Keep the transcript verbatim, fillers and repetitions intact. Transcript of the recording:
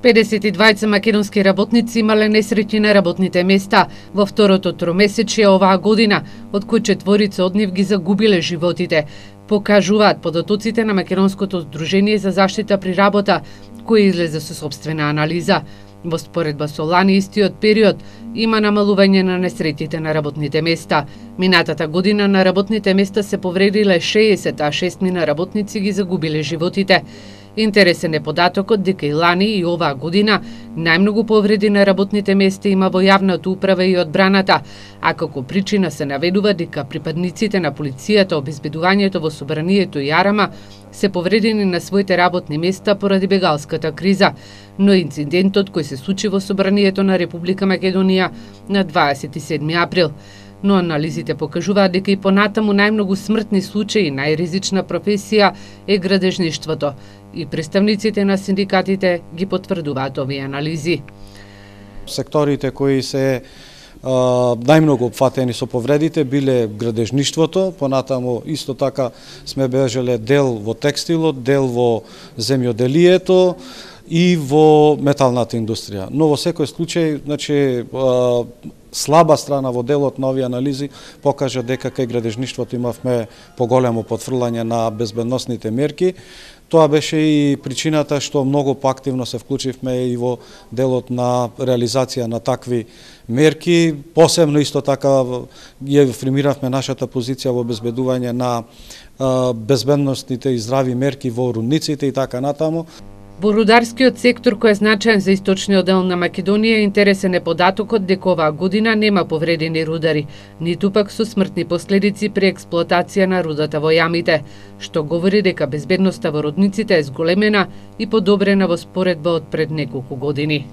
педесет и двајца македонски работници имале несреќи на работните места во второто тромесечие оваа година, од кои четворица од нив ги загубиле животите, покажуваат податоците на Македонското здружение за заштита при работа, кој излезе со сопствена анализа. Во споредба со лани истиот период има намалување на несреќите на работните места. Минатата година на работните места се повредиле шеесет, а шестмина работници ги загубиле животите. Интересен е податокот дека и лани и оваа година најмногу повреди на работните места има во јавната управа и одбраната, а како причина се наведува дека припадниците на полицијата, обезбедувањето во собранието и Арама се повредени на своите работни места поради бегалската криза, но инцидентот кој се случи во собранието на Република Македонија на дваесет и седми април. Но анализите покажуваат дека и понатаму најмногу смртни случаи, најризична професија е градежништвото, и представниците на синдикатите ги потврдуваат овие анализи. Секторите кои се а, најмногу опфатени со повредите биле градежништвото, понатаму исто така сме бележеле дел во текстилот, дел во земјоделието и во металната индустрија. Но во секој случај, значи, а, слаба страна во делот на овие анализи покажа дека кај градежништвото имавме поголемо потврлање на безбедносните мерки. Тоа беше и причината што многу поактивно се вклучивме и во делот на реализација на такви мерки. Посебно исто така ја афирмиравме нашата позиција во обезбедување на безбедносните и здрави мерки во рудниците и така натаму. Во рударскиот сектор, кој е значаен за источниот дел на Македонија, интересен е податокот дека оваа година нема повредени рудари, ниту пак со смртни последици при експлоатација на рудата во јамите, што говори дека безбедноста во рудниците е зголемена и подобрена во споредба од пред неколку години.